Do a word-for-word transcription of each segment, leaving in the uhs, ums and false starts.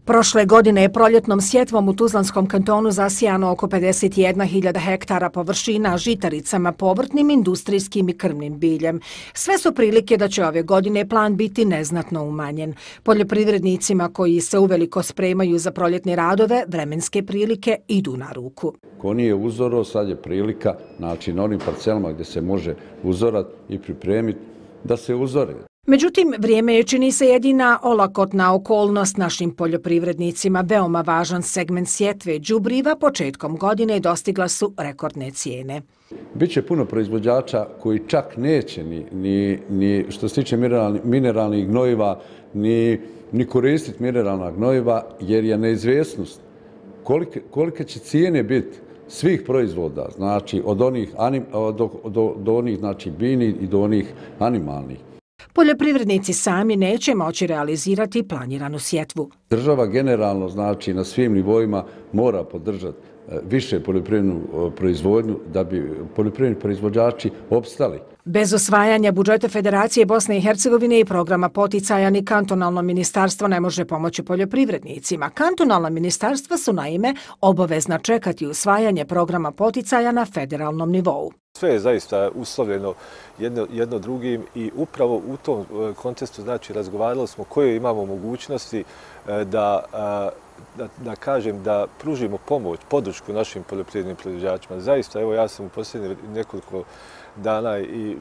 Prošle godine je proljetnom sjetvom u Tuzlanskom kantonu zasijano oko pedeset jedna hiljada hektara površina žitaricama, povrtnim, industrijskim i krmnim biljem. Sve su prilike da će ove godine plan biti neznatno umanjen. Poljoprivrednicima koji se uveliko spremaju za proljetne radove, vremenske prilike idu na ruku. Ko nije uzoro, sad je prilika, znači na onim parcelama gdje se može uzorat i pripremiti da se uzore. Međutim, vrijeme je, čini se, jedina olakotna okolnost našim poljoprivrednicima. Veoma važan segment sjetve đubriva početkom godine dostigla su rekordne cijene. Biće puno proizvođača koji čak neće ni, ni, ni što se tiče mineralni, mineralnih gnojiva, ni, ni koristiti mineralna gnojiva, jer je neizvjesnost kolike, kolike će cijene biti svih proizvoda, znači od onih, anim, do, do, do onih znači, biljnih i do onih animalnih. Poljoprivrednici sami neće moći realizirati planiranu sjetvu. Država generalno, znači na svim nivoima, mora podržati više poljoprivrednu proizvodnju da bi poljoprivredni proizvođači opstali. Bez osvajanja budžeta Federacije Bosne i Hercegovine i programa poticaja ni kantonalno ministarstvo ne može pomoći poljoprivrednicima. Kantonalna ministarstva su naime obavezna čekati usvajanje programa poticaja na federalnom nivou. Sve je zaista uslovljeno jedno, jedno drugim i upravo u tom kontekstu znači razgovarali smo koje imamo mogućnosti da, da, da kažem da pružimo pomoć, podršku našim poljoprivrednim proizvođačima. Zaista, evo ja sam u posljednjih nekoliko dana i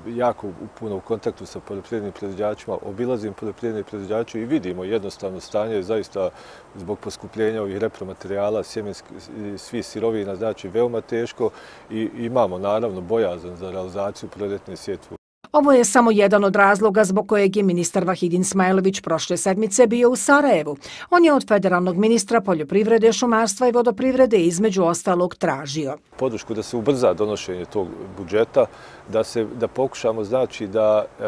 jako puno u kontaktu sa poljoprivrednim proizvođačima, obilazim poljoprivredne proizvođače i vidimo jednostavno stanje zaista zbog poskupljenja ovih repromaterijala, sjemenskih, svih sirovina, znači veoma teško i imamo naravno bojazan za realizaciju proljetne sjetve. Ovo je samo jedan od razloga zbog kojeg je ministar Vahidin Smajlović prošle sedmice bio u Sarajevu. On je od federalnog ministra poljoprivrede, šumarstva i vodoprivrede između ostalog tražio podršku da se ubrza donošenje tog budžeta, da se da pokušamo znači da e,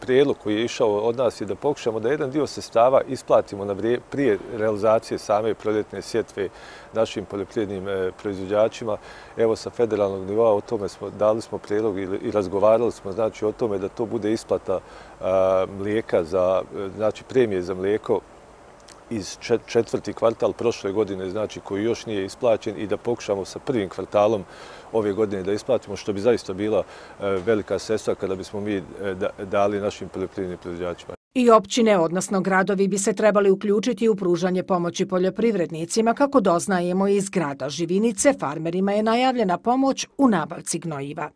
prijedlog koji je išao od nas je da pokušamo da jedan dio sredstava isplatimo na vrije, prije realizacije same proljetne sjetve našim poljoprivrednim e, proizvođačima. Evo sa federalnog nivoa o tome smo dali smo prijedlog i, i razgovarali smo znači o tome da to bude isplata a, mlijeka za znači premije za mlijeko iz četvrti kvartal prošle godine, znači koji još nije isplaćen i da pokušamo sa prvim kvartalom ove godine da isplatimo, što bi zaista bila velika sredstva kada bismo mi dali našim poljoprivrednim proizvođačima. I općine, odnosno gradovi, bi se trebali uključiti u pružanje pomoći poljoprivrednicima. Kako doznajemo iz grada Živinice, farmerima je najavljena pomoć u nabavci gnojiva.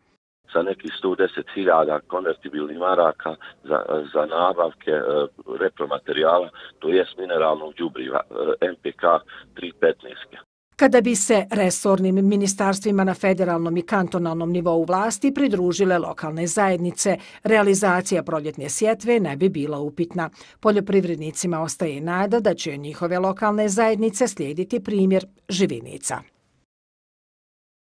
Sa nekih sto deset hiljada konvertibilnih maraka za, za nabavke e, repromaterijala, to jest mineralnog đubriva, e, M P K tri petnaest. Kada bi se resornim ministarstvima na federalnom i kantonalnom nivou vlasti pridružile lokalne zajednice, realizacija proljetne sjetve ne bi bila upitna. Poljoprivrednicima ostaje nada da će njihove lokalne zajednice slijediti primjer Živinica.